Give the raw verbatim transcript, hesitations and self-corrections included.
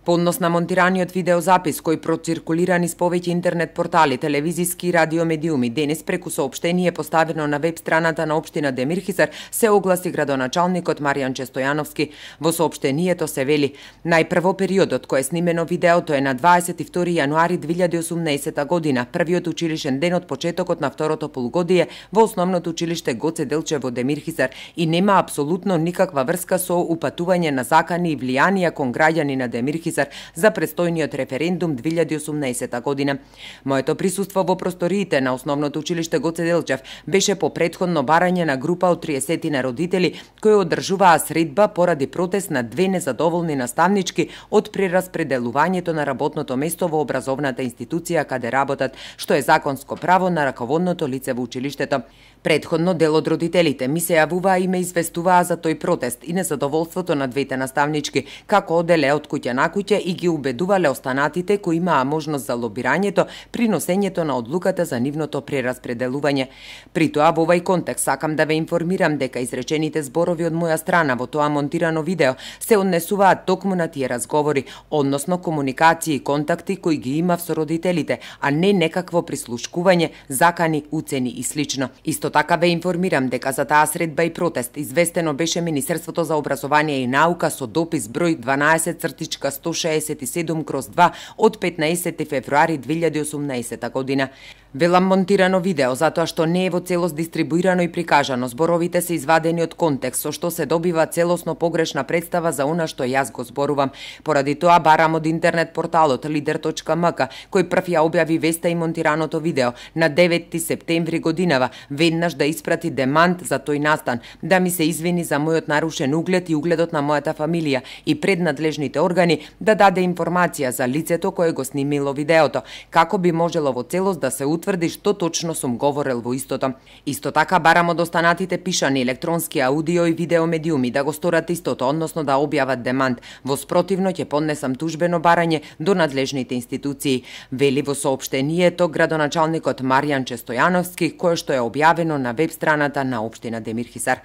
По однос на монтираниот видеозапис кој проциркулира низ повеќе интернет портали, телевизиски и радио медиуми, денес преку соопштение поставено на веб страната на општина Демирхизар се огласи градоначалникот Маријанче Стојановски. Во соопштението се вели: најпрво периодот кој е снимено видеото е на дваесет и втори јануари две илјади и осумнаесета година, првиот училишен ден од почетокот на второто полугодие во основното училиште Гоце Делчев во Демирхизар и нема апсолутно никаква врска со упатување на закани и влијанија кон граѓани на Демирхизар за престојниот референдум две илјади и осумнаесета година. Моето присуство во просториите на основното училиште Гоце Делчев беше по претходно барање на група од триесет на родители кои одржуваа средба поради протест на две незадоволни наставнички од прераспределувањето на работното место во образовната институција каде работат, што е законско право на раководното лице во училиштето. Предходно дел од родителите ми се јавуваа и ме известуваа за тој протест и незадоволството на двете наставнички, како оделе од куќа на куќа и ги убедувале останатите кои имаа можност за лобирањето при носењето на одлуката за нивното прераспределување. При тоа во овој контекст сакам да ве информирам дека изречените зборови од моја страна во тоа монтирано видео се однесуваат токму на тие разговори, односно комуникации и контакти кои ги имав со родителите, а не некакво прислушкување, закани, уцени и слично. Исто така ве информирам дека за таа средба и протест известено беше Министерството за образование и наука со допис број дванаесет цртичка сто шеесет и седум кроз два од петнаесети февруари две илјади и осумнаесета година. Велам монтирано видео затоа што не е во целост дистрибуирано и прикажано. Зборовите се извадени од контекст, со што се добива целосно погрешна представа за она што јас го зборувам. Поради тоа барам од интернет порталот лидер точка ем ка, кој прв ја објави веста и монтираното видео на деветти септември годинава, веднаш да испрати демант за тој настан, да ми се извини за мојот нарушен углед и угледот на мојата фамилија и пред надлежните органи да даде информација за лицето кое го снимило видеото, како би можело во целост да се утврди што точно сум говорел во истото. Исто така барам од останатите пишани, електронски, аудио и видео медиуми да го сторат истото, односно да објават демант. Во спротивно ќе поднесам тужбено барање до надлежните институции, вели во соопштението градоначалникот Маријанче Стојановски, кое што е објавено на веб страната на општина Демирхизар.